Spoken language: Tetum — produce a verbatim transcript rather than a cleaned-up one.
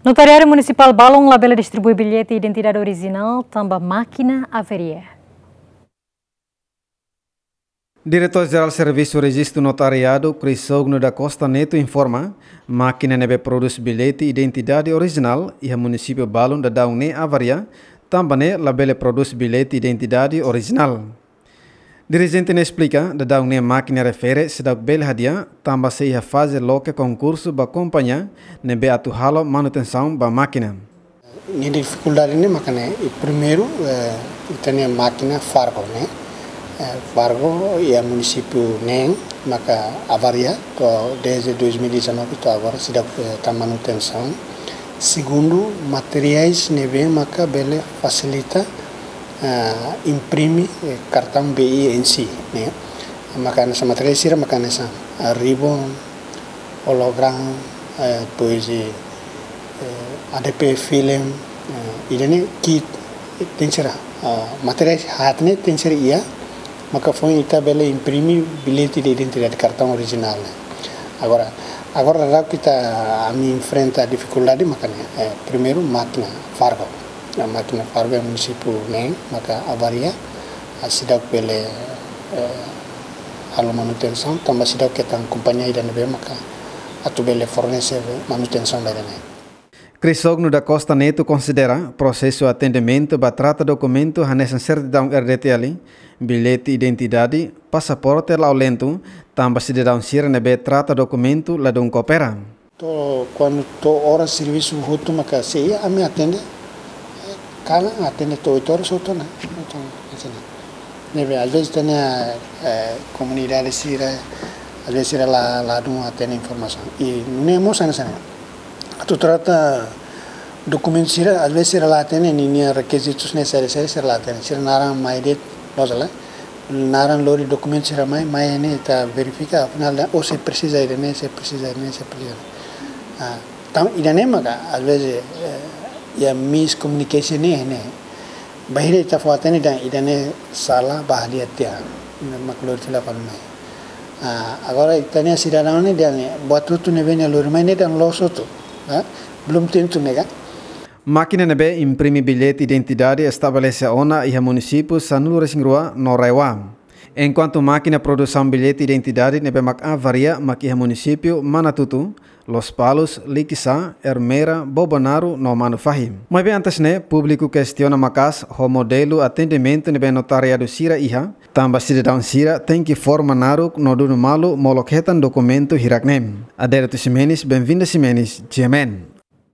Notariadu Munisipál balun labele distribui billete identidade orijinál tanba mákina avaria. Diretór Jerál Servisu Rejistu Notariadu, Crisógono da Costa Neto informa, mákina ne'ebé prodús billete identidade orijinál iha munisípiu balun daudaun ne'e avaria, tanba ne'e labele prodús billete identidade orijinál. Dirijente ne'e esplika, daudaun ne'e mákina refere seidauk bele hadi'a, tanba sei iha faze loke konkursu ba kompañia ne'ebé atu halo manutensaun ba mákina. Nia difikuldade ne'e maka ne'e, i primeiru, eh, ita-nia mákina Fargo ne'e. Eh, Fargo iha munisípiu neen maka avaria, to'o desde dois mil e dezanove to'o agora seidauk, eh, hetan manutensaun. Segundu, materiais ne'ebé maka bele fasilita, eh, imprime, eh, kartaun B I N C ne'e. Maka hanesan materiais sira maka hanesan, eh, ribbon, hologram, eh, depois, eh, eh, A D P film, eh, ida-ne'e kit, eh, tenke ser, ah, materiais haat ne'e tenke ser iha, maka foin ita bele imprime billete de identidade, kartaun orijinál ne'e. Agora, agora daudaun ita, ami enfrenta difikuldade maka ne'e, eh, primeiru mákina Fargo. A mákina Fargo iha munisípiu neen maka avaria, ah, seidauk bele, eh, halo manutensaun, tanba seidauk hetan kompañia ida ne'ebé maka atu bele fornese manutensaun ba ida-ne'e. Crisógono da Costa Neto konsidera prosesu atendimentu ba trata dokumentu hanesan sertidaun R D T L, billete identidade, pasaporte la'o lentu, tanba sidadaun sira ne'ebé trata dokumentu ladún koopera. To'o kuandu to'o oras servisu hotu maka sei iha, ami atende, eh, kalan atende to'o oito horas hotu ona. Hotu ona, hanesan ne'e. Ne'ebé, às vezes, ita-nia, eh, komunidade sira, às vezes, sira la, ladún hatene informasaun. I nune'e mós hanesan ne'e. Atu trata dokumentu sira, às vezes, sira la hatene ninia rekizitus ne'e saida, sira, sira la hatene. Sira naran mai de'it, loos ka lae. Naran lori dokumentu sira mai, mai ne'e ita verifika, afinál, oh, sei presiza ida-ne'e, sei presiza ida-ne'e, sei presiza. Ah, entaun, ida-ne'e maka, às vezes, eh, iha miscommunication ne'e, ne'e. Bainhira ita fó hatene dehan ida-ne'e sala, bá hadi'a tiha. Mak lori fila fali mai. Ah, agora ita-nia sidadaun ne'e dehan ne'e, buat hotu ne'ebé nia lori mai ne'e dehan loos hotu. Ah, belum tentu ne'e ka. Mákina ne'ebé imprime billete identidade estabelese ona iha munisípiu sanulu-resin-rua no RAEOA. Enkuantu mákina produsaun billete identidade ne'ebé mak avaria mak iha munisípiu Manatuto, Lospalos, Likisá, Ermera, Bobonaro no Manufahi. Maibé antes ne'e, públiku kestiona maka'as ho modelu atendimentu ne'ebé notariadu sira iha, tanba sidadaun sira tenke forma naruk no dunu malu molok hetan dokumentu hirak-ne'e. Adérito Ximenes, Benvinda Ximenes, G M N.